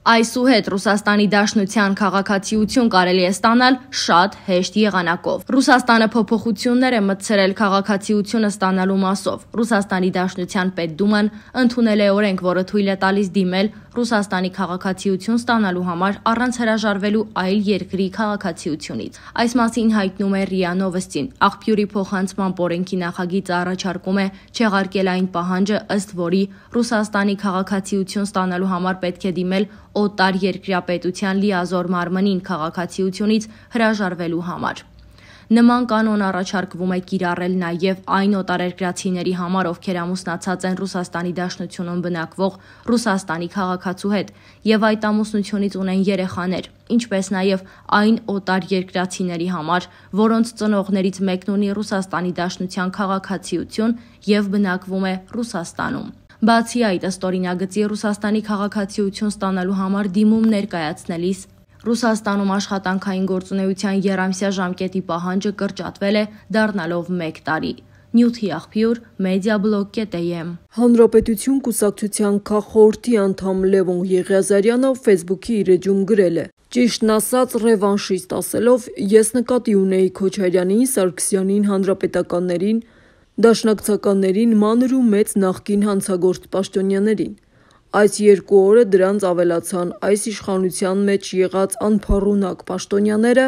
Այսուհետ Ռուսաստանի Դաշնության քաղաքացիություն կարելի է ստանալ շատ հեշտ եղանակով։ Ռուսաստանը փոփոխություններ է մտցրել քաղաքացիությունը ստանալու մասով։ Ռուսաստանի Դաշնության Պետդուման ընդունել է օրենք, որը թույլ է տալիս դիմել Ռուսաստանի քաղաքացիություն ստանալու համար առանց հրաժարվելու այլ երկրի քաղաքացիությունից։ Այս մասին հայտնում է ՌԻԱ Նովոստին։ Աղբյուրի փոխանցման օրենքի նախագիծը առաջարկում է չեղարկել այն պահանջը, ըստ որի Ռուսաստանի քաղաքացիություն ստանալու համար պետք է դիմել օտար երկրյա պետության լիազոր մարմնին քաղաքացիությունից հրաժարվելու համար։ Նման կանոն առաջարկվում է կիրառել նաև այն օտարերկրացիների համար, ովքեր ամուսնացած են Ռուսաստանի Դաշնությունում բնակվող Ռուսաստանի քաղաքացու հետ եւ այդ ամուսնությունից ունեն երեխաներ, ինչպես նաև այն օտարերկրացիների համար, որոնց ծնողներից մեկն ունի Ռուսաստանի Դաշնության քաղաքացիություն եւ բնակվում է Ռուսաստանում։ Բացի այդ, ըստ օրինագծի Ռուսաստանի քաղաքացիություն ստանալու համար դիմում ներկայացնելիս Ռուսաստանում աշխատանքային գործունեության երամսյա ժամկետի պահանջը կրճատվել է, դառնալով 1 տարի։ Նյութի աղբյուր Mediablog.am Հանրապետություն կուսակցության քաղխորհրդի անդամ Լևոն Եղիազարյանը Facebook-ի իր էջում գրել է. Ճիշտն ասած, ռևանշիստ ասելով, ես նկատի ունեի Քոչարյանին, Սարգսյանին, հանրապետականներին, դաշնակցականներին, մանր ու մեծ նախկին հանցագործ պաշտոնյաներին։ Այս 2 օրը դրանց ավելացան այս իշխանության մեջ եղած անփառունակ պաշտոնյաները,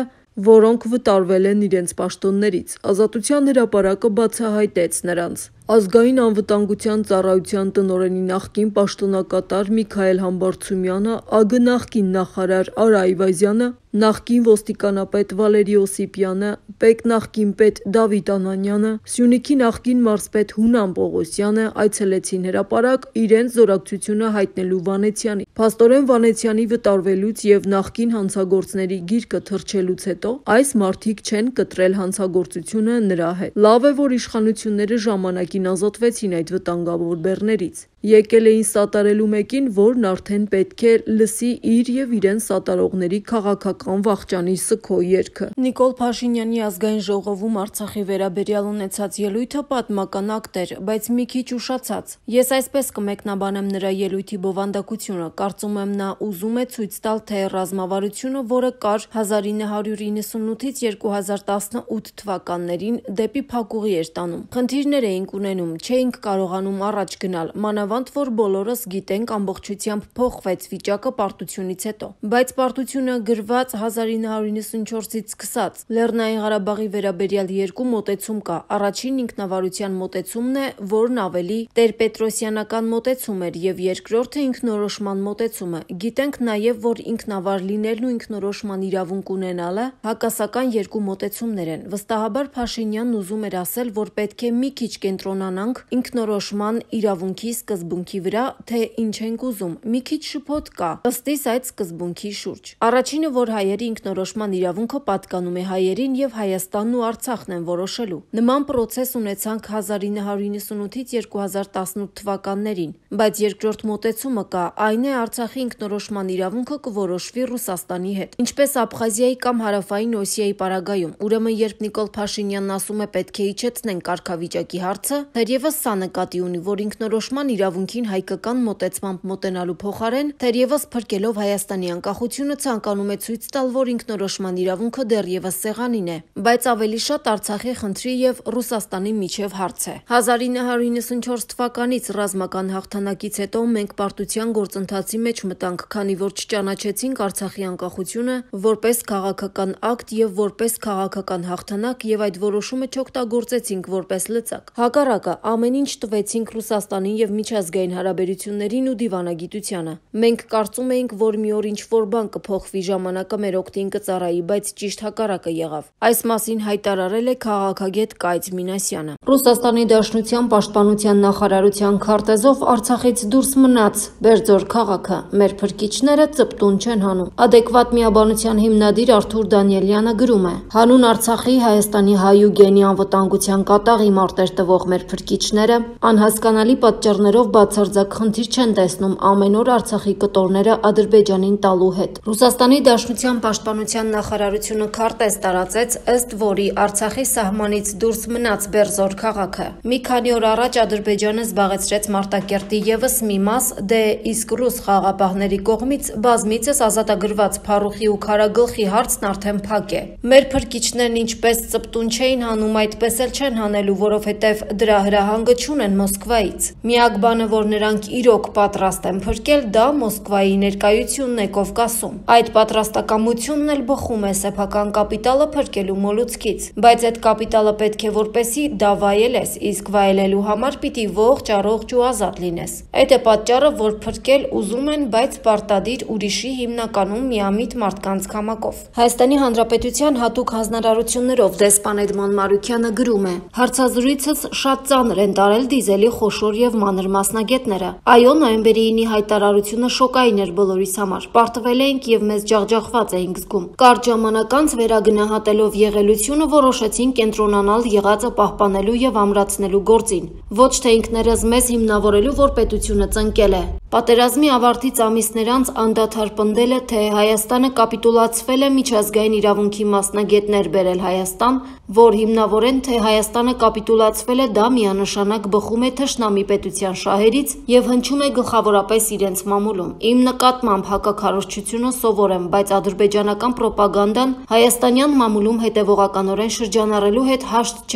որոնք վտարվել են իրենց պաշտոններից։ Ազատության հրապարակը բացահայտեց նրանց։ Ազգային անվտանգության ծառայության տնօրենի նախկին պաշտոնակատար Միքայել Համբարձումյանը, ԱԳ նախկին նախարար Արա Այվազյանը, նախկին ոստիկանապետ Վալերի Օսիպյանը, ՊԵԿ նախկին պետ Դավիթ Անանյանը, Սյունիքի նախկին մարզպետ Հունան Պողոսյանը այցելեցին հրապարակ իրենց զորակցությունը հայտնելու Վանեցյանին։ Փաստորեն Վանեցյանի վտարվելուց եւ նախկին հանցագործների գիրկը թռչելուց հետո այս մարդիկ չեն կտրել հանցագործությունը նրա հետ։ Լավ է, որ իշխանությունները ժամանակին ազատվեցին այդ վտանգավոր բեռներից։ Եկել էին սատարելու մեկին, որն արդեն պետք է լսի իր եւ իրեն սատարողների քաղաքական վախճանի սգո երգը։ Նիկոլ Փաշինյանի ազգային ժողովում Արցախի վերաբերյալ ունեցած ելույթը պատմական ակտ էր, բայց մի քիչ ուշացած։ Ես այսպես կմեկնաբանեմ նրա ելույթի բովանդակությունը։ Կարծում եմ նա ուզում է ցույց տալ, թե ռազմավարությունը, որը կար 1998-ից 2018 թվականներին, դեպի փակուղի էր տանում։ Խնդիրներ էինք ունենում, չէինք կարողանում առաջ գնալ, մանավանդ որ բոլորս գիտենք ամբողջությամբ փոխվեց վիճակը պարտությունից հետո։ Բայց պարտությունը գրված 1994-ից սկսած։ Լեռնային Ղարաբաղի վերաբերյալ 2 մոտեցում կա։ Առաջին ինքնավարության մոտեցումն է, որն ավելի տերպետրոսյանական մոտեցում էր, եւ երկրորդը ինքնորոշման մոտեցումը։ Գիտենք նաեւ, որ ինքնավար լինելն ու ինքնորոշման իրավունք ունենալը հակասական 2 մոտեցումներ են։ Վստահաբար Փաշինյանն ուզում էր ասել, որ պետք է մի քիչ կենտրոնանանք ինքնորոշման իրավունքի սկզբունքի վրա, թե ինչ ենք ուզում։ Մի քիչ շփոթ կա ըստ իս այդ սկզբունքի շուրջ։ Առաջինը, որ հայերի ինքնորոշման իրավունքը պատկանում է հայերին եւ Հայաստանն ու Արցախն են որոշելու։ Նման պրոցես ունեցանք 1998-ից 2018 թվականներին, բայց երկրորդ մոտեցումը կա, այն է Արցախի ինքնորոշման իրավունքը կորոշվի Ռուսաստանի հետ, ինչպես Աբխազիայի կամ Հարավային Օսիայի պարագայում։ Ուրեմն, երբ Նիկոլ Փաշինյանն ասում է պետք է իջեցնենք կարգավիճակի հարցը, թերևս սա նկատի ունի, որ ինքնորոշման իրավունքին հայկական մոտեցմամբ մոտենալու փոխարեն, թերևս փրկելով Հայաստանի անկախությունը, ցանկանում է ցույց տալ, որ ինքնորոշման իրավունքը դեռևս սեղանին է, բայց ավելի շատ Արցախի խնդրի եւ Ռուսաստանի միջև հարց է։ 1994 թվականից ռազմական հաղթանակից հետո մենք պարտության գործընթացի մեջ մտանք, քանի որ չճանաչեցինք Արցախի անկախությունը որպես քաղաքական ակտ եւ որպես քաղաքական հաղթանակ եւ այդ որոշումը չօգտագործեցինք որպես լծակ։ Հակառակը, ամեն ինչ տվեցինք Ռուսաստանին եւ միջազգային հարաբերություններին ու դիվանագիտությանը։ Մենք կարծում էինք, որ մի օր ինչ-որ բան կփոխվի, ժամանակը մեր օգտին կծառայի, բայց ճիշտ հակառակը եղավ։ Այս մասին հայտարարել է քաղաքագետ Կայծ Մինասյանը։ Ռուսաստանի Դաշնության պաշտպանության նախարարության քարտեզով Արցախից դուրս մնաց Բերձոր քաղաքը։ Մեր փրկիչները ծպտուն չեն հանում։ Adekvat միաբանության հիմնադիր Արթուր Դանիելյանը գրում է. Հանուն Արցախի, Հայաստանի հայ ու գենի անվտանգության կատաղի մարտեր տվող մեր փրկիչները անհասկանալի պատճառներով խոսքերով բացարձակ խնդիր չեն տեսնում ամեն օր Արցախի կտորները Ադրբեջանին տալու հետ։ Ռուսաստանի Դաշնության պաշտպանության նախարարությունը քարտեզ տարածեց, ըստ որի Արցախի սահմանից դուրս մնաց Բերձոր քաղաքը։ Մի քանի օր առաջ Ադրբեջանը զբաղեցրեց Մարտակերտի ևս մի մաս, դե իսկ ռուս խաղաղապահների կողմից բազմիցս ազատագրված Փարուխի ու Քարագլխի հարցն արդեն փակ է։ Մեր փրկիչներն ինչպես ծպտուն չէին հանում, այդպես էլ չեն հանելու, որովհետև դրա հրահանգը չունեն Մոսկվայից։ Միակ բանը, որ նրանք իրոք պատրաստ են փրկել, դա Մոսկվայի ներկայությունն է Կովկասում։ Այդ պատրաստակամությունն էլ բխում է սեփական կապիտալը փրկելու մոլուցքից, բայց այդ կապիտալը պետք է որպեսի դա վայելես, իսկ վայելելու համար պիտի ողջ առողջ ու ազատ լինես։ Այդ է պատճառը, որ փրկել ուզում են, բայց պարտադիր ուրիշի, հիմնականում միամիտ մարդկանց քամակով։ Հայաստանի Հանրապետության հատուկ հանձնարարություններով դեսպան Էդմոն Մարուքյանը գրում է. հարցազրույցս շատ ծանր են տարել դիզելի խոշոր եւ մանր մասնագետները։ Այո, նոյեմբերի 9-ի հայտարարությունը շոկային էր բոլորիս համար։ Պարտվել էինք եւ մեզ ջախջախված էինք զգում։ Կարճ ժամանակ անց վերագնահատելով եղելությունը որոշեցինք կենտրոնանալ եղածը պահպանելու եւ ամրացնելու գործին։ Ոչ թե ինքներս մեզ հիմնավորելու, որ պետությունը ծնկել է։ Պատերազմի ավարտից ամիսներ անց անդադար պնդել է, թե Հայաստանը կապիտուլացվել է միջազգային իրավունքի մասնագետներ բերել Հայաստան, որ հիմնավորեն, թե Հայաստանը կապիտուլացվել է, դա միանշանակ բխում է թշնամի պետության շահերից եւ հնչում է գլխավորապես իրենց մամուլում։ Իմ նկատմամբ հակաքարոզչությունը սովոր եմ, բայց ադրբեջանական պրոպագանդան հայաստանյան մամուլում հետևողականորեն շրջանառելու հետ հաշտ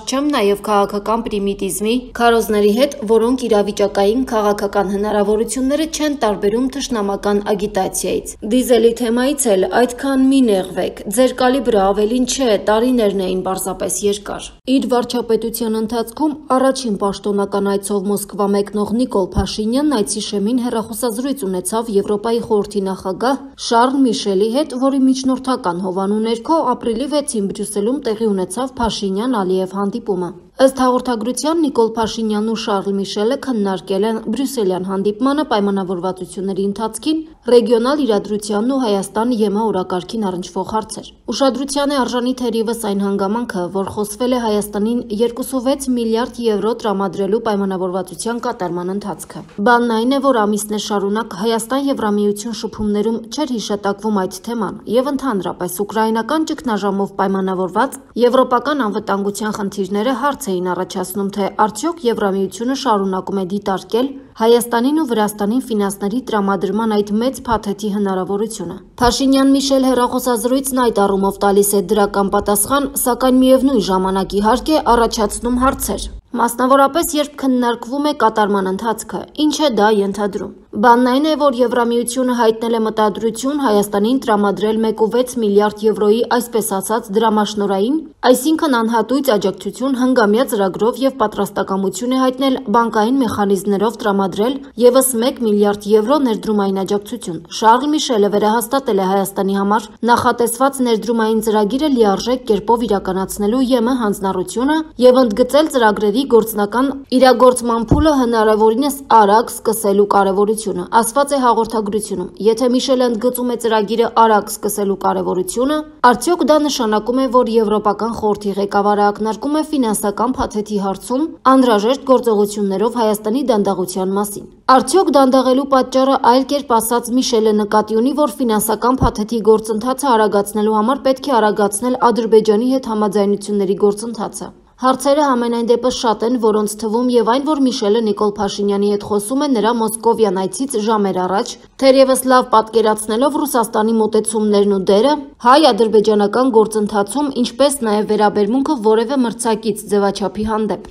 չեմ նաեւ քաղաքական պրիմիտիզմի քարոզների հետ, որոնք իրավիճակային քաղաքական հնարավորությունները չեն տարբերում թշնամական ագիտացիայից։ Դիզելի թեմայից էլ այդքան մի նեղվեք, ձեր կալիբրը ավելին չէ, տարիներն էին պարզապես երկար։ Իր վարչապետության ընթացքում առաջին պաշտոնական այցով Մոսկվա մեկնող Նիկոլ Փաշինյանն այցի շեմին հեռախոսազրույց ունեցավ Եվրոպայի խորհրդի նախագահ Շարլ Միշելի հետ, որի միջնորդական հովանու ներքո ապրիլի 6-ին Բրյուսելում տեղի ունեցավ Փաշինյան-Ալիև հանդիպումը։ Ըստ հաղորդագրության Նիկոլ Փաշինյանն ու Շարլ Միշելը քննարկել են բրյուսելյան հանդիպմանը պայմանավորվածությունների ընթացքին, ռեգիոնալ իրադրությանն ու Հայաստան-ԵՄ օրակարգին առնչվող հարցեր։ Ուշադրության է արժանի թերևս այն հանգամանքը, որ խոսվել է Հայաստանին 2.6 միլիարդ եվրո տրամադրելու պայմանավորվածության կատարման ընթացքը։ Բանն այն է, որ ամիսներ շարունակ Հայաստան-Եվրամիություն շփումներում չէր հիշատակվում այդ թեման, եւ ընդհանրապես ուկրաինական ճգնաժամով պայմանավորված եվրոպական անվտանգության խնդիրները հարց էին առաջացնում, թե արդյոք Եվրամիությունը շարունակում է դիտարկել Հայաստանին ու Վրաստանին ֆինանսների տրամադրման այդ մեծ փաթեթի հնարավորությունը։ Փաշինյան-Միշել հեռախոսազրույցն այդ առումով տալիս է դրական պատասխան, սակայն միևնույն ժամանակ իհարկե առաջացնում հարցեր։ Մասնավորապես, երբ քննարկվում է կատարման ընթացքը, ինչ է դա ենթադրում։ Բանն այն է, որ Եվրամիությունը հայտնել է մտադրություն Հայաստանին տրամադրել 1.6 միլիարդ եվրոյի այսպես ասած դրամաշնորհային, այսինքն անհատույց աջակցություն հնգամյա ծրագրով եւ պատրաստակամություն է հայտնել բանկային մեխանիզմներով տրամադրել եւս 1 միլիարդ եվրո ներդրումային աջակցություն։ Շարլ Միշելը վերահաստատել է Հայաստանի համար նախատեսված ներդրումային ծրագիրը լիարժեք կերպով իրականացնելու ԵՄ հանձնառությունը եւ ընդգծել ծրագրերի գործնական իրագործման փուլը հնարավորինս արագ սկսելու կարևորությունը։ Ասված է հաղորդագրությունում, եթե Միշելը ընդգծում է ծրագիրը արագ սկսելու կարևորությունը, արդյոք դա նշանակում է, որ Եվրոպական խորհրդի ղեկավարը ակնարկում է ֆինանսական փաթեթի հարցում անհրաժեշտ գործողություններով Հայաստանի դանդաղության մասին։ Արդյոք դանդաղելու պատճառը այլ կերպ ասած Միշելը նկատի ունի, որ ֆինանսական փաթեթի գործընթացը արագացնելու համար պետք է արագացնել Ադրբեջանի հետ համաձայնությունների գործընթացը։ Հարցերը համենայն դեպս շատ են, որոնց թվում եւ այն, որ Միշելը Նիկոլ Փաշինյանի հետ խոսում է նրա Մոսկովյան այցից ժամեր առաջ, թերևս լավ պատկերացնելով Ռուսաստանի մոտեցումներն ու դերը հայ-ադրբեջանական գործընթացում, ինչպես նաեւ վերաբերմունքը որևէ մրցակից ձևաչափի հանդեպ։